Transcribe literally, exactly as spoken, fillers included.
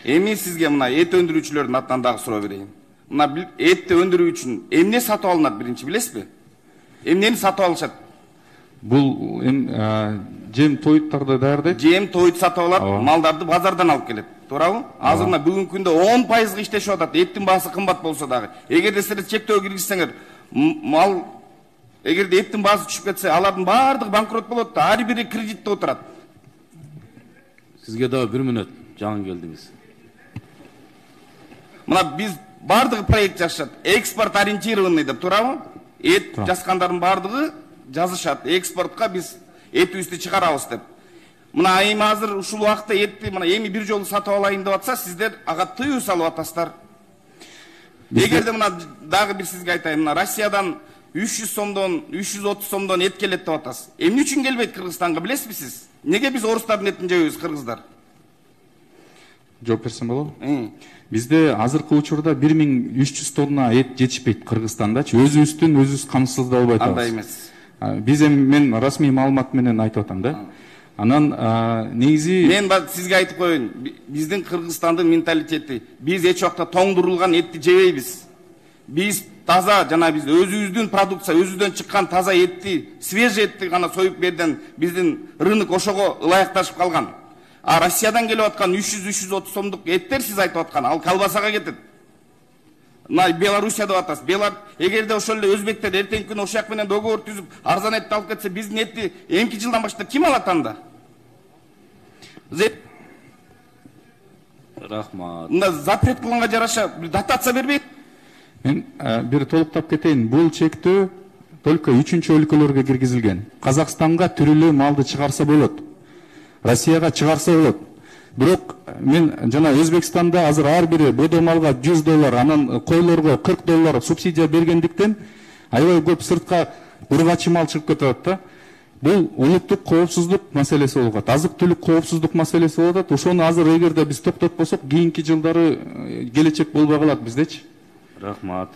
Эми сизге мына эт өндүрүүчүлөрдүн атынан дагы суроо берейин. Мына этти өндүрүү үчүн эмне сатып алынат биринчи билесизби? Эмнени сатып алышат? Бул эм жем тоюттарды даярдайт. Жем тоют сатып алат, малдарды базардан алып келет. Туурабы? Азыр мына бүгүнкү күндө он пайызга иштешип атат. Эттин баасы кымбат болсо дагы. Эгерде силер чектөө киргизсеңер, мал эгерде эттин баасы түшүп кетсе, алардын баардыгы банкрот болот да, ар бири кредитте отурат. Сизге дагы бир мүнөт жаңы келдиңиз. Мына биз баардыгы проект жазышат. Экспорт ориентированный деп, туурабы? Эт жазгандардын баардыгы жазышат. Экспортко биз этибизди чыгарабыз деп. Мына эми азыр ушул убакта этти мына эми бир жолу сатып алайын деп атса, сиздер ага тыюу салып атасыздар. Эгерде мына дагы бир сизге айтайын, мына Россиядан үч жүз сомдон, үч жүз отуз сомдон эт келет деп атасыз. Эмне үчүн келбейт Кыргызстанга, билесизби сиз? Неге биз орустардын этин жебейбиз, кыргыздар? Жооп берсем болобу? Бизде азыркы учурда бир миң үч жүз тонна эт жетишпейт Кыргызстандачы. Өзүбүздүн өзүбүз камсыздап албай атабыз. Андай эмес. Биз эми мен расмий маалымат менен айтып атам да. Анан негизи мен сизге айтып коеюн, биздин Кыргызстандын менталитети, биз эч убакта тоңдурулган этти жебейбиз. Биз таза жана биз өзүбүздүн продукция, өзүбүздөн чыккан таза этти, свежий этти гана союп берден биздин рынок ошого ылайыкташып калган. А Россиядан келип аткан үч жүз үч жүз отуз сомдук эттер сиз айтып аткан, ал колбасага кетет. Мына Белоруссия деп атасыз. Белар эгерде ошол эле өзбектер эртеңки күнү ошол жак менен договор түзүп, арзан этти алып кетсе, биздин этти эмки жылдан баштап ким алат анда? Рахмат. Мында запрет кылганга жараша дотация бербейт. Мен бир толуктап кетейин. Бул чектөө только үчүнчү өлкөлөргө киргизилген. Казакстанга түрүлүү малды чыгарса болот. Россияга чыгарса болот. Бирок мен жана Өзбекстанда азыр ар бири бодо малга жүз доллар, анан койлорго кырк доллар субсидия бергендиктен аябай көп сыртка ургачы мал чыгып кетет да. Бул улуттук коопсуздук маселеси болуп атат. Азык-түлүк коопсуздук маселеси болуп атат. Ошону азыр эгерде биз токтотпосок, кийинки жылдары келечек болбой калат биздечи. Рахмат.